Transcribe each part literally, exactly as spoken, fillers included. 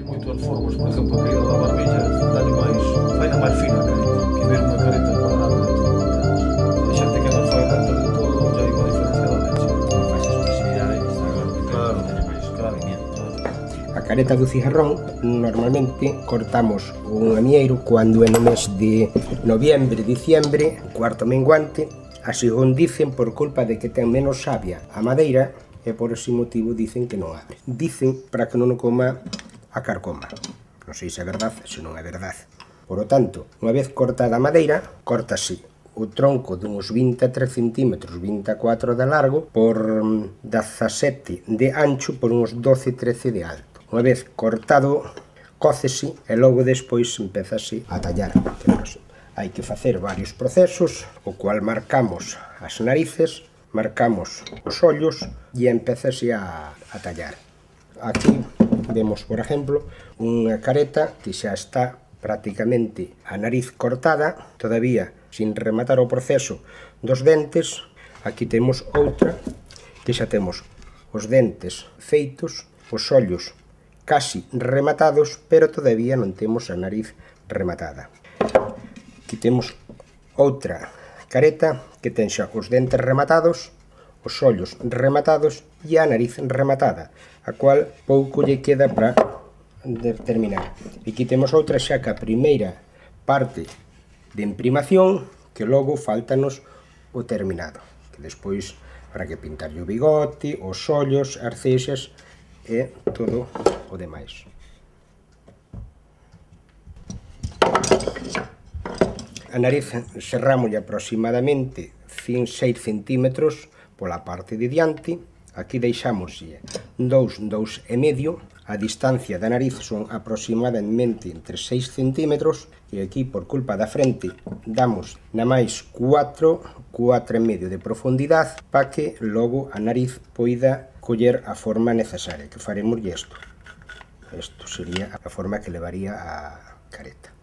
moitas formas, por exemplo, a caída da barbilla dá-lhe máis, vai máis fina a careta, que ver unha careta cuadrada de todo, a xente que non fai renta de todo, já hai unha diferencia da leche. Faz expresividade, está claro que Claro, teña máis claro, movimiento. A careta do cigarrón normalmente cortamos un amieiro cando é no mes de noviembre, diciembre, cuarto menguante, así o dicen por culpa de que ten menos savia a madeira e por ese motivo dicen que non abre. Dicen para que non o coma a carcoma. Non sei se é verdade, se non é verdade. Por lo tanto, unha vez cortada a madeira, cortase o tronco dunhos vinte e tres centímetros, vinte e catro de largo, por dezasete de ancho, por uns doce trece de alto. Unha vez cortado, cócese e logo despois empezase a tallar. Hai que facer varios procesos, o cual marcamos as narices, marcamos os ollos e empezase a, a tallar. Aquí vemos, por exemplo, unha careta que xa está prácticamente a nariz cortada, todavía sin rematar o proceso dos dentes. Aquí temos outra que xa temos os dentes feitos, os ollos casi rematados, pero todavía non temos a nariz rematada. Aquí temos outra careta que ten xa os dentes rematados, os ollos rematados e a nariz rematada, a cual pouco lle queda para terminar. Aquí temos outra xa que a primeira parte de imprimación, que logo faltanos o terminado, que despois habrá que pintar o bigote, os ollos, as cexas e todo o demais. A nariz serrámoslle aproximadamente seis centímetros pola parte de diante. Aquí deixámoslle dous, dous e medio. A distancia da nariz son aproximadamente entre seis centímetros e aquí, por culpa da frente, damos na máis cuatro, cuatro e medio de profundidade para que logo a nariz poida coller a forma necesaria, que faremos isto. Isto sería a forma que levaría a careta.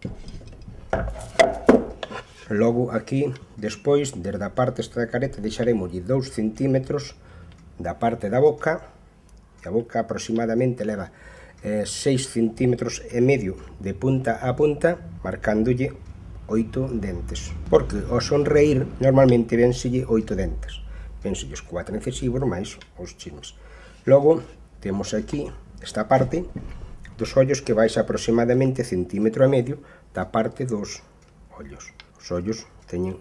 Logo aquí, despois, desde a parte esta da careta, deixaremos dous centímetros da parte da boca. A boca aproximadamente leva eh, seis centímetros e medio de punta a punta, marcándolle oito dentes. Porque ao sonreír normalmente vénselle oito dentes. Vénselle os cuatro incisivos máis os chismes. Logo temos aquí esta parte dos ollos que vais aproximadamente centímetro e medio da parte dos ollos. Os ollos teñen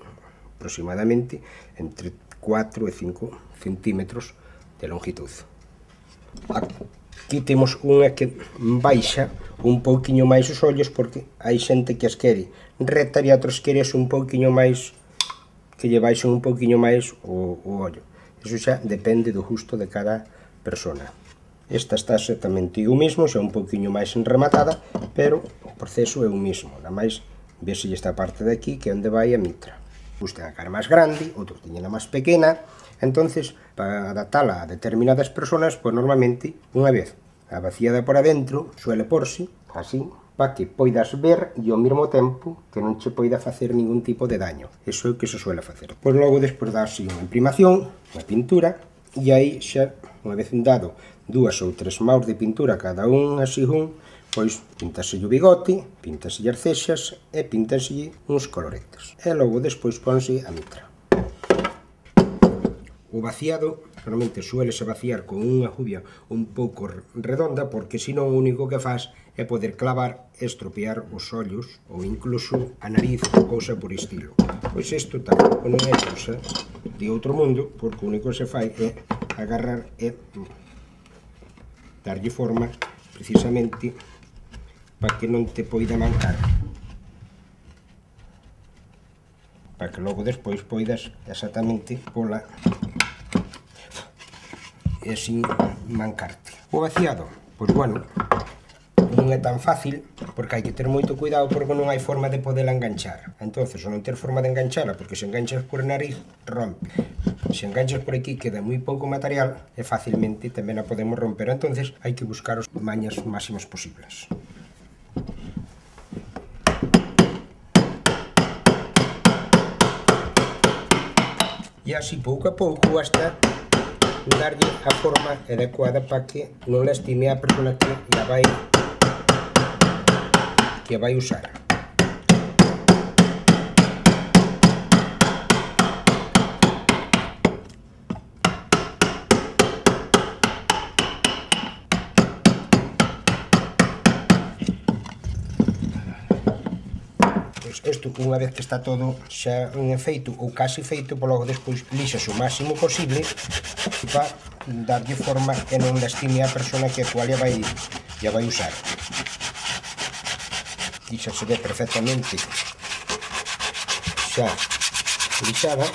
aproximadamente entre cuatro e cinco centímetros de longitud. Aquí temos unha que baixa un pouquiño máis os ollos porque hai xente que as quere rectas e outros queres un pouquiño máis que lle baixen un pouquiño máis o, o ollo. Iso xa depende do gusto de cada persona. Esta está exactamente o mismo, xa un pouquiño máis enrematada, pero o proceso é o mismo. Nada máis vese esta parte de aquí que é onde vai a mitra. Uns ten a cara máis grande, outros teñen a máis pequena. Entonces, para adaptala a determinadas personas, pois normalmente, unha vez a vaciada por adentro, suele porse así, para que poidas ver e ao mesmo tempo que non che poida facer ningún tipo de daño. Iso é o que se suele facer. Pois logo, despois darse unha imprimación, unha pintura, e aí xa, unha vez dado dúas ou tres maus de pintura cada un así un, pois pintase o bigote, pintase as cexas e pintase uns coloretes. E logo despois ponse a mitra. O vaciado normalmente suele se vaciar con unha jubia un pouco redonda porque senón o único que faz é poder clavar e estropear os ollos ou incluso a nariz ou cousa por estilo. Pois isto tampouco non é cousa de outro mundo porque o único que se fai é agarrar e darlle forma precisamente para que non te poida mancar. Para que logo despois poidas exactamente pola e sin mancarte. O vaciado, pois bueno, non é tan fácil porque hai que ter moito cuidado porque non hai forma de poderla enganchar. Entonces, ao non ter forma de enganchala, porque se enganchas por a nariz, rompe. Se enganchas por aquí queda moi pouco material e facilmente tamén a podemos romper. Entonces, hai que buscar os mañas máximas posibles. E así pouco a pouco hasta darlle a forma adecuada para que non lastime a persona que la vai que vai usar. Isto, unha vez que está todo xa en efeito ou casi feito, pois logo despois lixas o máximo posible para darlle forma e non lastime a persona que a cual ya vai, ya vai usar. Lixa se ve perfectamente xa lixada.